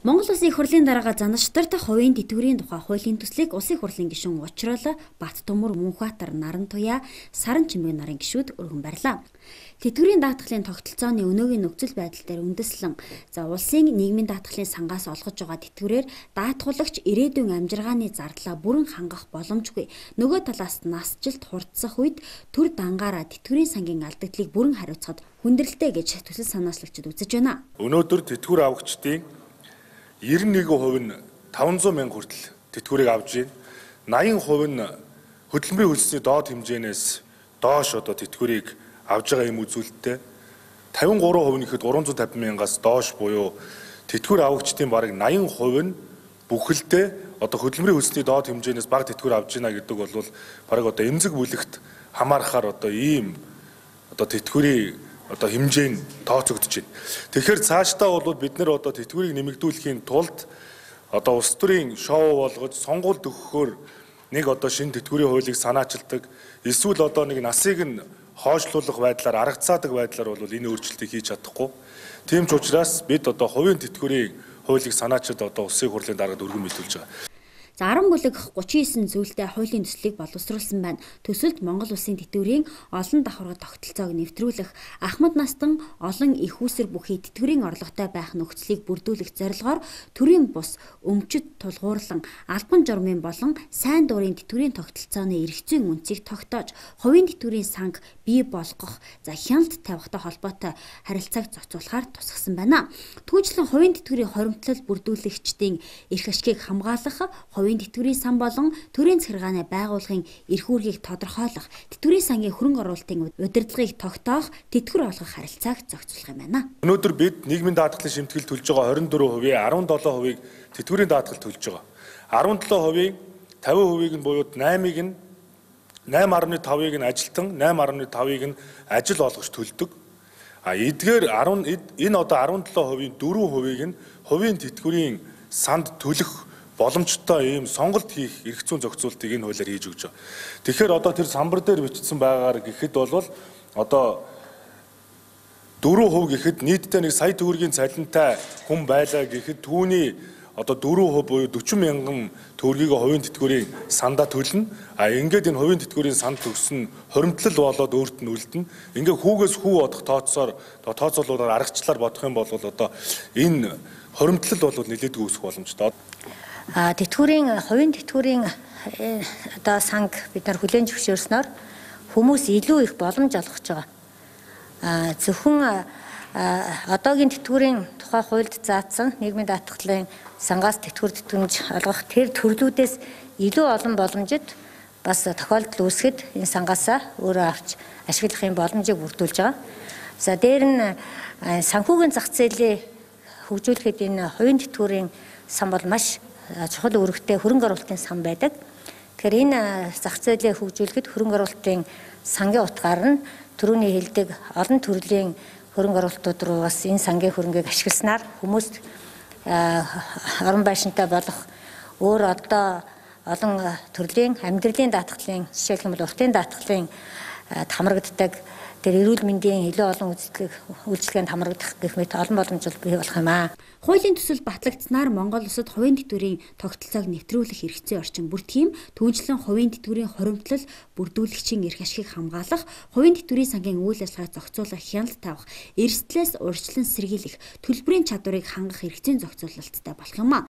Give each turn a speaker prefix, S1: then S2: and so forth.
S1: Монгол Улсын их хурлын дарга Занаштарт хувийн тэтгэврийн тухай хуулийн төслийг Улсын их хурлын гишүүн Учрал, Баттөмөр, Мөнхбаатар, Нарантуяа, Саран Чимэг нарын гишүүд өргөн барьлаа. Тэтгэврийн даатгалын тогтолцооны өнөөгийн нөхцөл байдал дээр үндэслэн улсын нийгмийн даатгалын сангаас олгож байгаа тэтгэврээр даатгуулагч ирээдүйн амжиргааны зардлаа бүрэн хангах боломжгүй. Нөгөө талаас насжилт хурдсах үед төр дангаараа тэтгэврийн сангийн алдагдлыг бүрэн хариуцахад хүндрэлтэй гэж төсөл санаачлагчид үзэж байна.
S2: Өнөөдөр тэтгэвэр авагчдын 91% нь 500 мянга хүртэл тэтгэврийг авж байна. 80% нь хөдөлмөрийн хөлсний доод хэмжээнээс доош тэтгэврийг авж байгаа юм үзүүлэлттэй. 53% нь ихэд 350 мянгаас доош буюу тэтгэвэр авагчдын бараг 80% нь бүхэлдээ хөдөлмөрийн хөлсний доод хэмжээнээс бага тэтгэвэр авж байна гэдэг бол бараг эмзэг бүлэгт хамаарахаар ийм тэтгэврийн хэмжээ нь тооцогдож байна. Тэгэхээр цаашдаа бол бид нэр тэтгэврийг нэмэгдүүлэхийн тулд улс төрийн шоу болгож сонгуульд өгөхөөр нэг шинэ тэтгэврийн хуулийг санаачилдаг, эсвэл нэг насыг нь хойшлуулах байдлаар аргацаадаг байдлаар бол энэ өөрчлөлтийг хийж чадахгүй. Тийм ч учраас бид хувийн тэтгэврийн хуулийг санаачид улсын хурлын даргад өргөн мэдүүлж байгаа.
S1: 10 бүлэг 39 зүйлтэй хуулийн төслийг боловсруулсан байна. Төсөлд Монгол Улсын тэтгэврийн олон давхаргад тогтолцоог нэвтрүүлэх, ахмад настан олон их үүсэр бүхий тэтгэврийн орлоготой байх нөхцөлийг бүрдүүлэх зорилгоор төрийн бус, өмчөд тулгуурлан, албан журмын болон сайн дурын тэтгэврийн тогтолцооны эрх зүйн үнцийг тогтоож, хувийн тэтгэврийн санг бий болгох, хяналт тавихтай холбоотой харилцааг зохицуулахаар тусгасан байна. Түүнчлэн хувийн тэтгэврийн хоримтлал бүрдүүлэгчдийн эрх ашгийг хамгаалах, хувийн тэтгэврийн сан болон төрийн захиргааны байгууллагын эрх үүргийг тодорхойлох, тэтгэврийн сангийн хөрөнгө оруулалтын удирдлагыг тогтоох, тэтгэвэр олгох харилцааг зохицуулах юм байна.
S2: Өнөөдөр бид нийгмийн даатгалын шимтгэл төлж байгаа 24%, 17%-ийг тэтгэврийн даатгал төлж байгаа. 17%-ийн 50%-ийг нь буюу 8-ыг нь 8.5-ыг нь ажилтан, 8.5-ыг нь ажил олгогч төлдөг. Эдгээр энэ 17%-ийн 4%-ийг нь хувийн тэтгэврийн санд төлөх боломжтой ийм сонголт хийх эрх зүйн зохицуултыг энэ хуулиар хийж өгч байгаа. Тэгэхээр тэр самбар дээр бичсэн байгаагаар гэхэд бол 4% гэхэд нийтдээ 1 сая төгрөгийн цалинтай хүн байлаа гэхэд түүний 4% буюу 40 мянган төгрөгийг хувийн тэтгэврийн сандаа төлнө. Ингээд энэ хувийн тэтгэврийн санд төгсөн хоримтлал болоод өөрт нь үлдэнэ. Ингээ хүүгээс хүү бодох тооцоолуулаар аргачлалаар бодох юм бол энэ хоримтлал бол нэлээдгүй үүсэх боломжтой.
S3: Хувийн тэтгэврийн санг бид нар хүлээн зөвшөөрснөөр хүмүүс илүү их боломж олгож байгаа. Зөвхөн одоогийн тэтгэврийн тухай хуульд заасан нийгмийн даатгалын сангаас тэтгэвэр тэтгэмж олгох тэр төрлүүдээс илүү олон боломжид бас тохиолдол үүсгэхэд энэ сангаасаа өөрөө авч ашиглахын боломжийг бүрдүүлж байгаа. За дээр нь санхүүгийн зах зээлийг хөгжүүлэхэд энэ хувийн тэтгэврийн сан бол маш чухал үүрэгтэй хөрөнгө оруулалтын сан байдаг. Тэгэхээр энэ зах зээлийг хөгжүүлэхэд хөрөнгө оруулалтын сангийн утгаар нь түрүүний хэлдэг олон төрлийн хөрөнгө оруулалтууд руу бас энэ сангийн хөрөнгийг ашигласнаар хүмүүст орон байшинтай болох өөр олон төрлийн амьдралын даатгалын жишээлх юм бол уртын даатгалын хамрагддаг тэр эрүүл мэндийн илүү олон үйлчлэгэнд хамрагдах гэх мэт олон боломжууд бий болох юм аа.
S1: Хуулийн төсөл батлагдсанаар Монгол улсад хувийн тэтгэврийн тогтолцоог нэвтрүүлэх хэрэгцээ орчин бүртгэм, түүнчлэн хувийн тэтгэврийн хоримтлал бүрдүүлэгчийн эрх ашгийг хамгаалах, хувийн тэтгэврийн сангийн үйл ажиллагааг зохицуулах, хяналт тавих, эрсдлээс урьдчилан сэргийлэх, төлбөрийн чадварыг хангах хэрэгцээний зохицуулалттай болох юм аа.